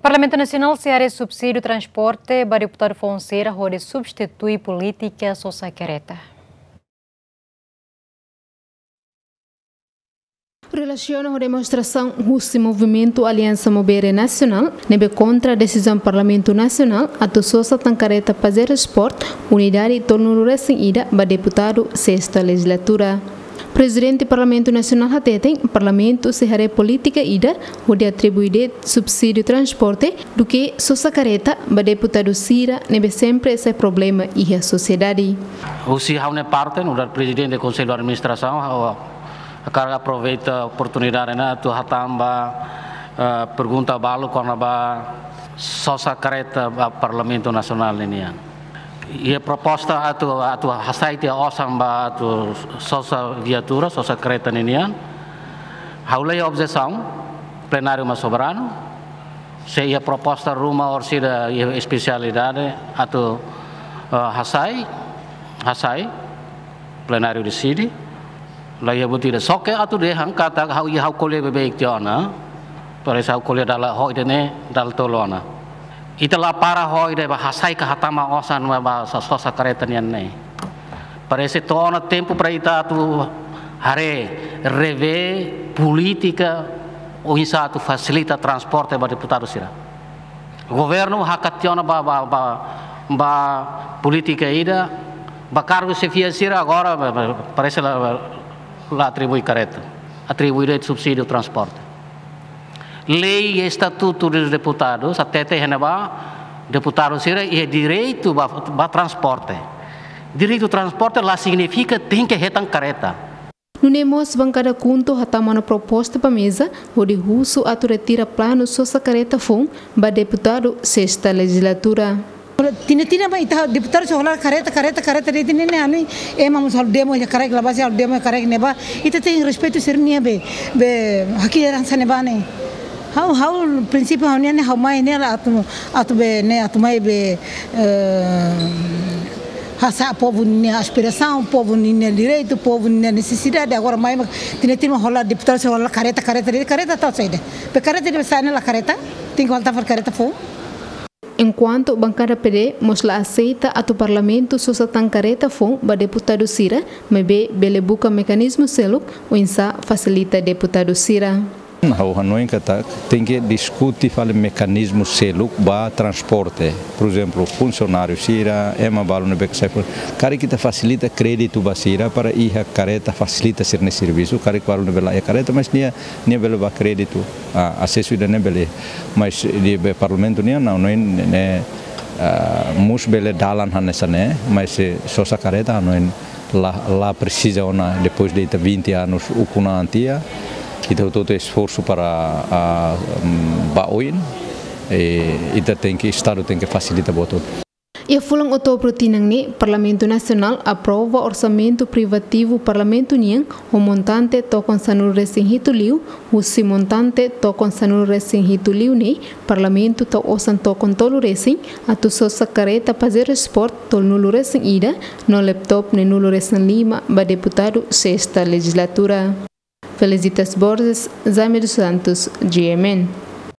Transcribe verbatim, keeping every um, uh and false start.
Parlamentu Nasionál sei haree subsídiu transporte ba deputadu foun sira hodi substitui polítika sosa kareta. Relasiona ho demonstrasaun husi Movimentu Aliansa Mobere Nasionál ne'ebé kontra desizaun Parlamentu Nasionál atu sosa tan kareta Pajero Sport unidade tolunulu resin ida ba deputadu sesta lejizlatura. Prezidente Parlamentu Nasionál hateten, Parlamentu sei haree polítika ida hodi atribui de'it subsídiu transporte duké sosa kareta ba deputadu sira ne'ebé sempre sai problema iha sosiedade. Husi ha'u-nia parte, nu'udar Prezidente Konsellu Administrasaun, ha'u hakarak aproveita oportunidade ne'e atu hatán ba, eh, pergunta balu kona-ba sosa kareta ba Parlamentu Nasionál ninian. Iha proposta atu, atu hasai tiha osan ba atu sosa viatura, sosa kareta ninian. Ha'u la iha objesaun, plenáriu mak soberanu. Se iha proposta ruma orsida iha espesialidade atu, eh, hasai, hasai, plenáriu deside. La iha buat ida, só ke atu dehan katak ha'u iha ha'u ko'alia beibeik tiha ona. Parese ha'u ko'alia dala ho ida-ne'e, dala tolu ona. Ita la para ho ida ba hasai ka hatama osan ba sa sosa kareta nian ne'e. Parese to'o ona tempu para ita atu haree, revee polítika oinsá atu fasilita transporte ba deputadu sira. Governu hakat tiha ona ba, ba, ba, ba polítika ida, ba kargu xefia sira agora, ba, ba, parese la, la atribui kareta, atribui de'it subsídiu transporte. Lei Estatutu dos Deputados hatete iha ne'ebá, deputadu sira iha direitu ba, ba transporte. Direitu transporte la signifika tenke hetan kareta. Nune'e mós bankada KHUNTO hatama ona proposta ba meza, hodi husu atu retira planu sosa kareta foun ba deputadu sesta lejizlatura. Tinan-tinan mak ita deputadu sira hola kareta, kareta, kareta de'it, tinan-tinan ne'e ami, ema mós halo demo iha karik, la base halo demo iha karik ne'ebá, ita tenke respeitu sira-nia be, be haki heransa ne'ebá ne'e. Ha'u, ha'u prinsípiu ha'u-nian ne'e ha'u mai ne'e atu, atu be ne'e atu mai be, eh, hasa'e povu nia aspirasaun, povu nia direitu, povu nia nesesidade. Agora mai mak tinan-tinan mak hola deputadu sira hola kareta, kareta de'it, kareta tau saida. Be kareta de'it be sa'e ne'e la kareta, tenke hola tafar kareta foun. Enkuantu bankada PD mós la aseita atu Parlamentu sosa tan kareta foun ba deputadu sira, maibé bele buka mekanizmu seluk oinsá fasilita deputadu sira. Ha'u hanoin katak tenke diskute fali mekanizmu seluk ba transporte. Por ezemplu, funsionáriu sira, ema balu ne'ebé ke sai fali. Karik ita fasilita kréditu ba sira para iha kareta fasilita sira-nia servisu, karik balu ne'ebé la iha kareta, mas nia, nia bele ba kréditu. Ah, asesu ida-ne'e bele. Mas iha be Parlamentu nian, ha'u hanoin ne'e, ah, mós bele dalan hanesan ne'e, mas se sosa kareta ha'u hanoin la, la presiza ona depois de ita vinte anos ukun an tiha, ita hotu-hotu esforsu para, ah, mm, ba oin, eh, ita tenke, Estadu tenke fasilita buat hotu. Iha fulan Outubru tinan ne'e, Parlamentu Nasionál aprova orsamentu privativu Parlamentu nian ho montante tokon sanulu resin hitu liu, husi montante tokon sanulu resin hitu liu ne'e, Parlamentu tau osan tokon tolu resin, atu sosa kareta Pajero Sport tolunulu resin ida, no laptop neenulu resin lima ba deputadu sesta lejizlatura. Felicitas Borges, Jaime dos Santos, G M N.